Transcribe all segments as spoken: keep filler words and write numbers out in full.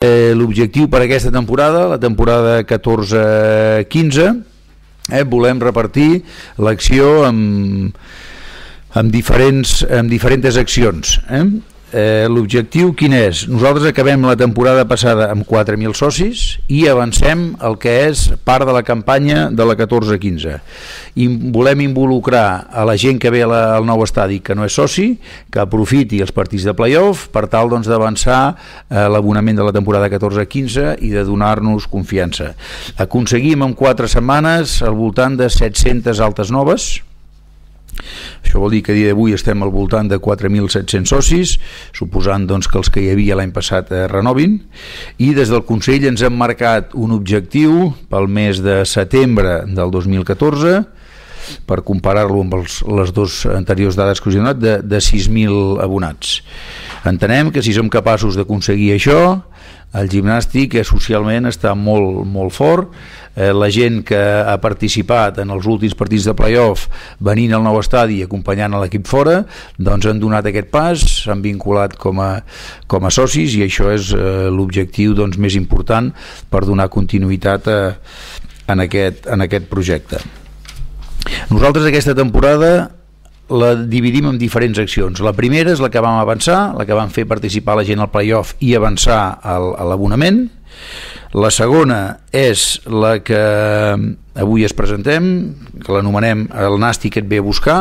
Eh, l'objectiu per aquesta temporada, la temporada catorze quinze, eh, volem repartir l'acció amb, amb, diferents, amb diferents accions. Eh? Eh, l'objectiu quin és? Nosaltres acabem la temporada passada amb quatre mil socis i avancem el que és part de la campanya de la catorze quinze. I volem involucrar a la gent que ve la, al nou estadi que no és soci, que aprofiti els partits de play-off per tal doncs, d'avançar eh, l'abonament de la temporada catorze quinze i de donar-nos confiança. Aconseguim en quatre setmanes al voltant de set-centes altes noves. Això vol dir que a dia d'avui estem al voltant de quatre mil set-cents socis, suposant doncs, que els que hi havia l'any passat eh, renovin, i des del Consell ens hem marcat un objectiu pel mes de setembre del dos mil catorze, per comparar-lo amb els, les dues anteriors dades que us he donat, de, de sis mil abonats. Entenem que si som capaços d'aconseguir això, el gimnàstic eh, socialment està molt, molt fort. Eh, la gent que ha participat en els últims partits de play-off venint al nou estadi i acompanyant a l'equip fora, doncs han donat aquest pas, s'han vinculat com a, com a socis, i això és eh, l'objectiu doncs, més important per donar continuïtat a, en, aquest, en aquest projecte. Nosaltres aquesta temporada la dividim en diferents accions. La primera és la que vam avançar, la que vam fer participar la gent al play-off i avançar al, a l'abonament. La segona és la que avui es presentem, que l'anomenem el Nàstic et ve a buscar.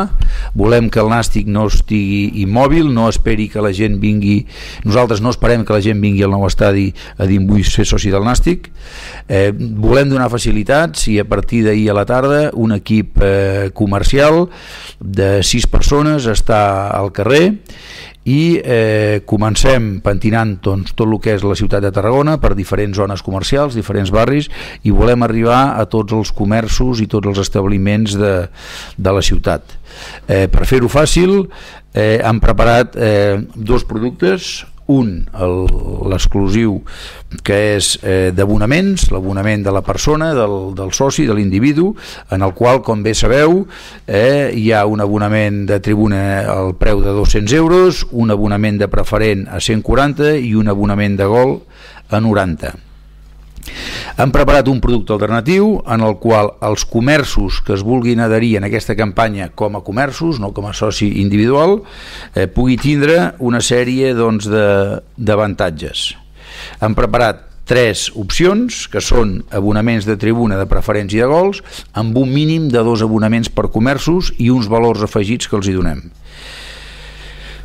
Volem que el Nàstic no estigui immòbil, no esperi que la gent vingui, nosaltres no esperem que la gent vingui al nou estadi a dir vull ser soci del Nàstic. Eh, volem donar facilitats i a partir d'ahir a la tarda un equip eh, comercial de sis persones està al carrer i eh, comencem pentinant doncs, tot el que és la ciutat de Tarragona per diferents zones comercials, diferents barris, i volem arribar a tots els comerços i tots els establiments de, de la ciutat. Eh, per fer-ho fàcil eh, hem preparat eh, dos productes, un, l'exclusiu, que és eh, d'abonaments, l'abonament de la persona, del, del soci, de l'individu, en el qual, com bé sabeu, eh, hi ha un abonament de tribuna al preu de dos-cents euros, un abonament de preferent a cent quaranta i un abonament de gol a noranta. Hem preparat un producte alternatiu en el qual els comerços que es vulguin adherir en aquesta campanya com a comerços, no com a soci individual, eh, pugui tindre una sèrie doncs, d'avantatges. Hem preparat tres opcions, que són abonaments de tribuna, de preferents i de gols, amb un mínim de dos abonaments per comerços i uns valors afegits que els hi donem.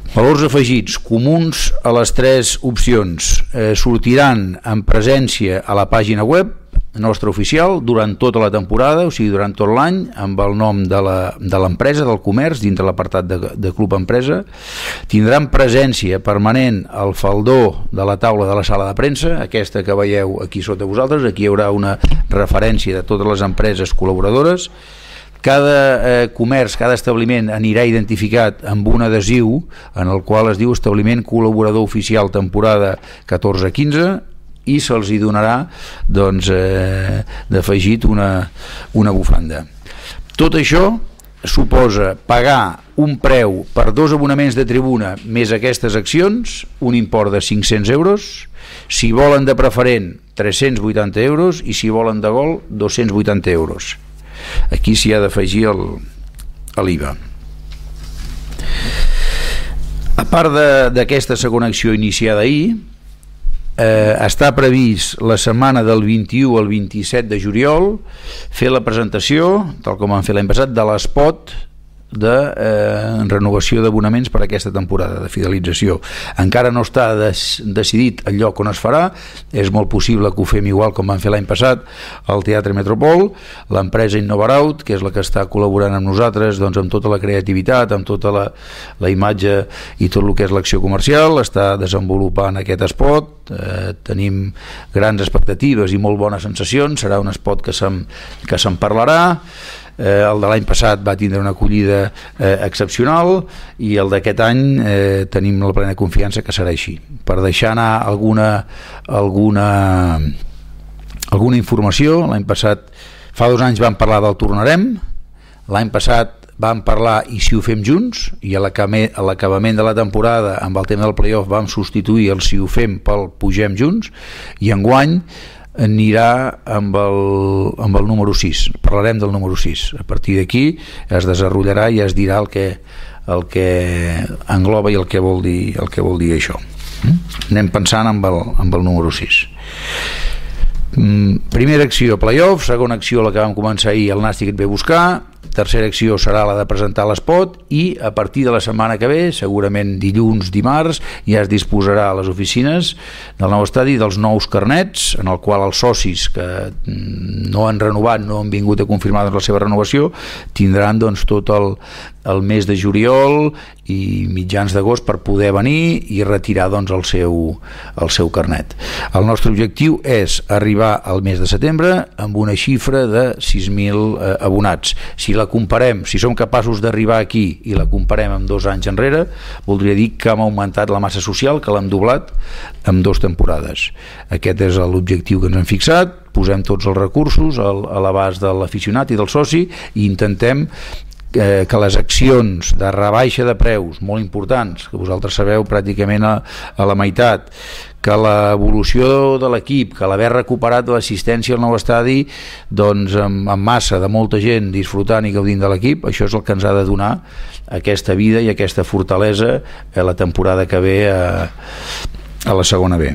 Valors afegits comuns a les tres opcions. Eh, sortiran en presència a la pàgina web nostra oficial durant tota la temporada, o sigui, durant tot l'any, amb el nom de l'empresa, de del comerç, dintre l'apartat de, de Club Empresa. Tindran presència permanent al faldó de la taula de la sala de premsa, aquesta que veieu aquí sota vosaltres. Aquí hi haurà una referència de totes les empreses col·laboradores. Cada eh, comerç, cada establiment anirà identificat amb un adhesiu en el qual es diu establiment col·laborador oficial temporada catorze quinze, i se'ls hi donarà doncs, eh, d'afegit una, una bufanda. Tot això suposa pagar un preu per dos abonaments de tribuna més aquestes accions, un import de cinc-cents euros, si volen de preferent tres-cents vuitanta euros i si volen de gol dos-cents vuitanta euros. Aquí s'hi ha d'afegir l'I V A. A part d'aquesta segona acció iniciada ahir, eh, està previst la setmana del vint-i-u al vint-i-set de juliol fer la presentació, tal com vam fer l'any passat, de l'espot de eh, renovació d'abonaments per a aquesta temporada de fidelització. Encara no està des, decidit el lloc on es farà, és molt possible que ho fem igual com vam fer l'any passat al Teatre Metropol. L'empresa Innovaraut, que és la que està col·laborant amb nosaltres doncs, amb tota la creativitat, amb tota la, la imatge i tot el que és l'acció comercial, està desenvolupant aquest espot. Eh, tenim grans expectatives i molt bones sensacions. Serà un espot que se'n que se'n parlarà. Eh, el de l'any passat va tindre una acollida eh, excepcional, i el d'aquest any eh, tenim la plena confiança que serà així. Per deixar anar alguna alguna alguna informació, l'any passat, fa dos anys vam parlar del Tornarem, l'any passat vam parlar i si ho fem junts, i a l'acabament de la temporada amb el tema del playoff vam substituir el si ho fem pel pugem junts, i enguany anirà amb el, amb el número sis, parlarem del número sis, a partir d'aquí es desenvoluparà i es dirà el que, el que engloba i el que vol dir, el que vol dir això. Anem pensant amb el, amb el número sis. Primera acció, playoff. Segona acció, la que vam començar ahir, el Nàstic et ve a buscar. Tercera acció serà la de presentar l'espot, i a partir de la setmana que ve, segurament dilluns, dimarts, ja es disposarà a les oficines del nou estadi dels nous carnets, en el qual els socis que no han renovat, no han vingut a confirmar la seva renovació, tindran doncs tot el, el mes de juliol i mitjans d'agost per poder venir i retirar doncs el seu, el seu carnet. El nostre objectiu és arribar al mes de setembre amb una xifra de sis mil eh, abonats. Si la comparem, si som capaços d'arribar aquí i la comparem amb dos anys enrere, voldria dir que hem augmentat la massa social, que l'hem doblat en dues temporades. Aquest és l'objectiu que ens hem fixat, posem tots els recursos a l'abast de l'aficionat i del soci i intentem eh, que les accions de rebaixa de preus molt importants, que vosaltres sabeu pràcticament a, a la meitat, que l'evolució de l'equip, que l'haver recuperat de l'assistència al nou estadi doncs amb, amb massa de molta gent disfrutant i gaudint de l'equip, això és el que ens ha de donar aquesta vida i aquesta fortalesa a la temporada que ve a, a la segona B.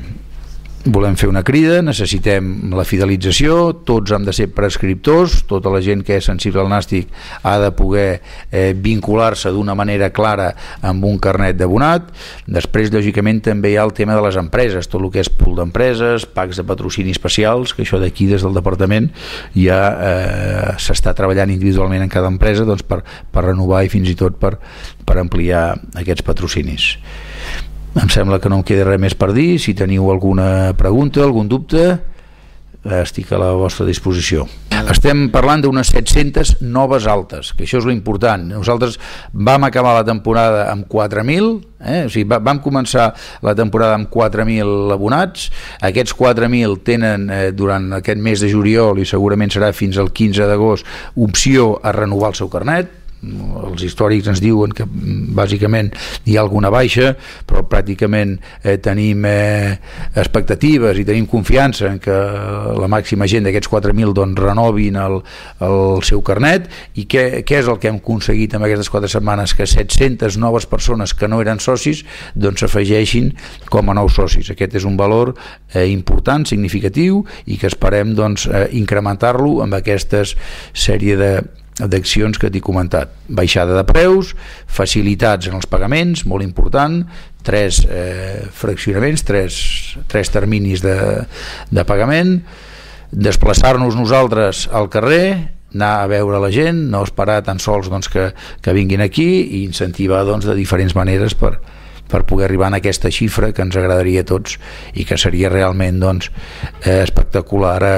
Volem fer una crida, necessitem la fidelització, tots han de ser prescriptors, tota la gent que és sensible al Nàstic ha de poder eh, vincular-se d'una manera clara amb un carnet d'abonat. Després, lògicament, també hi ha el tema de les empreses, tot el que és pool d'empreses, packs de patrocini especials, que això d'aquí des del departament ja eh, s'està treballant individualment en cada empresa doncs, per, per renovar i fins i tot per, per ampliar aquests patrocinis. Em sembla que no em queda res més per dir. Si teniu alguna pregunta, algun dubte, estic a la vostra disposició. Estem parlant d'unes set-centes noves altes, que això és l'important. Nosaltres vam acabar la temporada amb quatre mil, eh? O sigui, vam començar la temporada amb quatre mil abonats. Aquests quatre mil tenen eh, durant aquest mes de juliol i segurament serà fins al quinze d'agost opció a renovar el seu carnet. Els històrics ens diuen que bàsicament hi ha alguna baixa, però pràcticament eh, tenim eh, expectatives i tenim confiança en que la màxima gent d'aquests quatre mil doncs, renovin el, el seu carnet. I què, què és el que hem aconseguit en aquestes quatre setmanes? Que set-centes noves persones que no eren socis doncs s'afegeixin com a nous socis. Aquest és un valor eh, important, significatiu, i que esperem doncs, eh, incrementar-lo amb aquestes sèrie de d'accions que t'he comentat. Baixada de preus, facilitats en els pagaments, molt important, tres eh, fraccionaments, tres, tres terminis de, de pagament, desplaçar-nos nosaltres al carrer, anar a veure la gent, no esperar tan sols doncs, que, que vinguin aquí, i incentivar doncs, de diferents maneres per, per poder arribar a aquesta xifra que ens agradaria a tots i que seria realment doncs, eh, espectacular a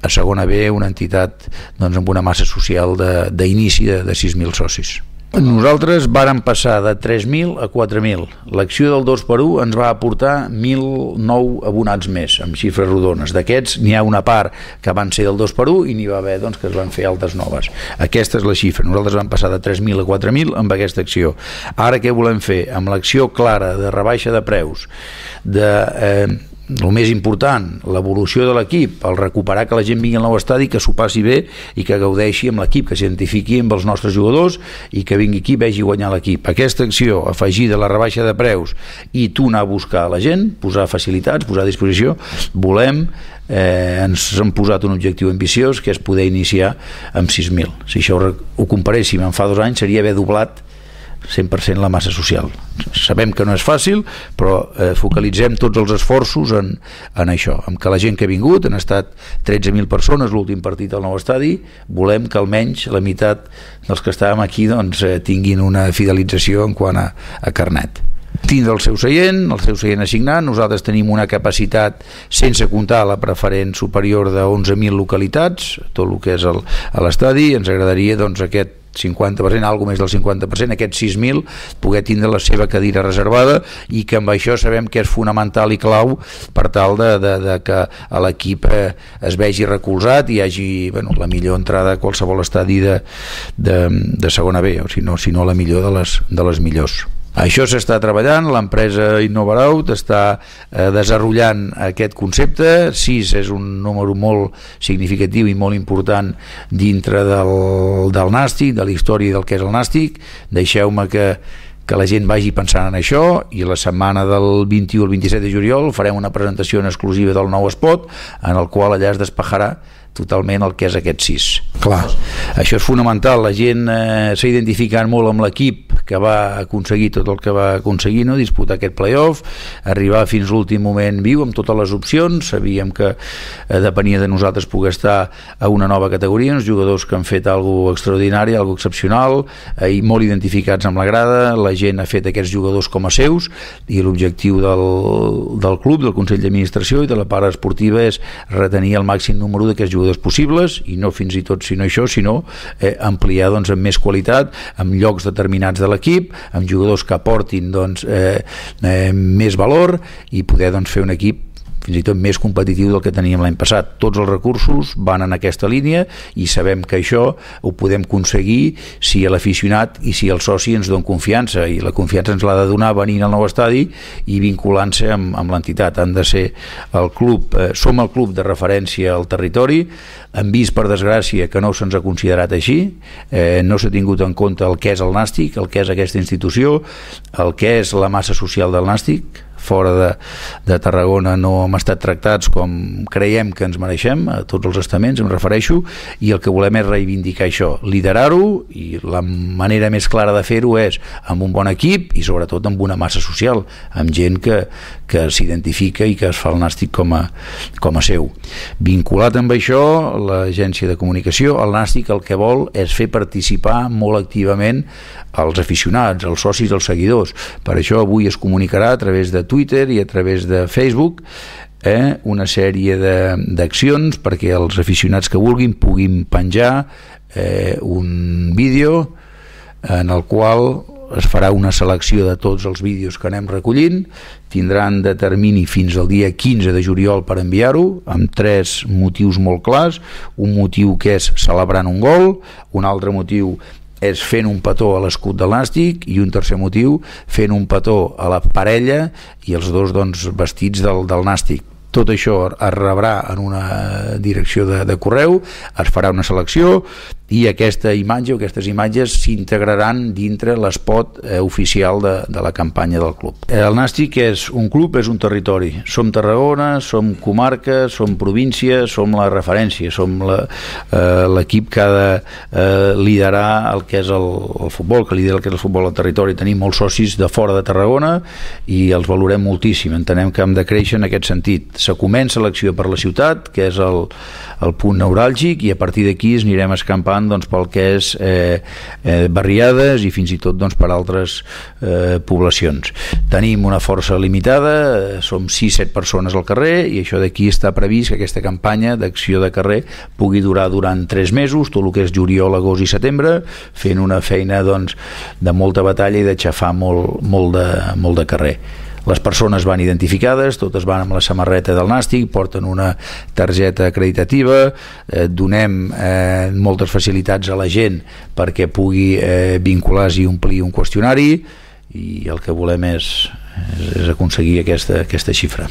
a segona B, una entitat doncs, amb una massa social d'inici de, de, de sis mil socis. Nosaltres vàrem passar de tres mil a quatre mil. L'acció del dos per u ens va aportar mil nou abonats més, amb xifres rodones. D'aquests n'hi ha una part que van ser del dos per u i n'hi va haver doncs, que es van fer altes noves. Aquesta és la xifra. Nosaltres vam passar de tres mil a quatre mil amb aquesta acció. Ara què volem fer? Amb l'acció clara de rebaixa de preus, de... Eh, el més important, l'evolució de l'equip, el recuperar que la gent vingui al nou estadi, que s'ho passi bé i que gaudeixi amb l'equip, que s'identifiqui amb els nostres jugadors i que vingui aquí i vegi guanyar l'equip. Aquesta acció afegida a la rebaixa de preus i tu anar a buscar la gent, posar facilitats, posar a disposició, volem, eh, ens hem posat un objectiu ambiciós que és poder iniciar amb sis mil. Si això ho comparéssim en fa dos anys seria haver doblat cent per cent la massa social. Sabem que no és fàcil, però eh, focalitzem tots els esforços en, en això, en que la gent que ha vingut, han estat tretze mil persones l'últim partit al nou estadi, volem que almenys la meitat dels que estàvem aquí doncs, eh, tinguin una fidelització en quant a, a carnet. Tindre el seu seient, el seu seient assignat. Nosaltres tenim una capacitat, sense comptar la preferent superior de onze mil localitats, tot el que és el, a l'estadi. Ens agradaria doncs, aquest cinquanta per cent, alguna més del cinquanta per cent, aquests sis mil, poder tindre la seva cadira reservada, i que amb això sabem que és fonamental i clau per tal de, de, de que l'equip eh, es vegi recolzat i hi hagi, bueno, la millor entrada a qualsevol estadi de, de, de segona B, o si no, si no la millor de les, de les millors. Això s'està treballant, l'empresa Innovaraut està eh, desenvolupant aquest concepte. Sis és un número molt significatiu i molt important dintre del, del nàstic, de la història del que és el nàstic. Deixeu-me que, que la gent vagi pensant en això, i la setmana del vint-i-u al vint-i-set de juliol farem una presentació en exclusiva del nou espot, en el qual allà es despejarà totalment el que és aquest sis. Clar, això és fonamental. La gent eh, s'ha identificat molt amb l'equip que va aconseguir tot el que va aconseguir, no? Disputar aquest playoff, arribar fins l'últim moment viu amb totes les opcions. Sabíem que eh, depenia de nosaltres poder estar a una nova categoria, uns jugadors que han fet alguna cosa extraordinari, alguna cosa excepcional, eh, i molt identificats amb la grada. La gent ha fet aquests jugadors com a seus, i l'objectiu del, del club, del Consell d'Administració i de la part esportiva és retenir el màxim número d'aquests jugadors possibles, i no fins i tot sinó això, sinó eh, ampliar doncs, amb més qualitat, amb llocs determinats de l'equip, amb jugadors que aportin doncs, eh, eh, més valor, i poder doncs, fer un equip fins i tot més competitiu del que teníem l'any passat. Tots els recursos van en aquesta línia, i sabem que això ho podem aconseguir si l'aficionat i si el soci ens don confiança, i la confiança ens l'ha de donar venint al nou estadi i vinculant-se amb, amb l'entitat. Han de ser el club, eh, som el club de referència al territori. Hem vist, per desgràcia, que no se'ns ha considerat així, eh, no s'ha tingut en compte el que és el nàstic, el que és aquesta institució, el que és la massa social del nàstic. Fora de, de Tarragona no hem estat tractats com creiem que ens mereixem, a tots els estaments em refereixo, i el que volem és reivindicar això, liderar-ho, i la manera més clara de fer-ho és amb un bon equip i sobretot amb una massa social, amb gent que, que s'identifica i que es fa el nàstic com a, com a seu. Vinculat amb això, l'agència de comunicació, el nàstic el que vol és fer participar molt activament els aficionats, els socis, els seguidors. Per això avui es comunicarà a través de Twitter i a través de Facebook eh, una sèrie d'accions perquè els aficionats que vulguin puguin penjar eh, un vídeo en el qual es farà una selecció de tots els vídeos que anem recollint. Tindran de termini fins al dia quinze de juliol per enviar-ho, amb tres motius molt clars. Un motiu que és celebrant un gol, un altre motiu és fent un petó a l'escut del nàstic, i un tercer motiu fent un petó a la parella i els dos doncs, vestits del, del nàstic. Tot això es rebrà en una direcció de, de correu, es farà una selecció, i aquesta imatge o aquestes imatges s'integraran dintre l'espot eh, oficial de, de la campanya del club. El nàstic és un club, és un territori. Som Tarragona, som comarca, som província, som la referència, som l'equip eh, que ha de eh, liderar el que és el, el futbol, que lidera el que és el futbol al territori. Tenim molts socis de fora de Tarragona i els valorem moltíssim. Entenem que hem de créixer en aquest sentit. Se comença l'acció per la ciutat, que és el, el punt neuràlgic, i a partir d'aquí es anirem escampant doncs, pel que és eh, eh, barriades i fins i tot doncs, per altres eh, poblacions. Tenim una força limitada, eh, som sis set persones al carrer, i això d'aquí està previst que aquesta campanya d'acció de carrer pugui durar durant tres mesos, tot el que és juliol, agost i setembre, fent una feina doncs, de molta batalla i de xafar molt, molt, de, molt de carrer. Les persones van identificades, totes van amb la samarreta del nàstic, porten una targeta acreditativa, eh, donem eh, moltes facilitats a la gent perquè pugui eh, vincular-s'hi i omplir un qüestionari, i el que volem és, és aconseguir aquesta, aquesta xifra.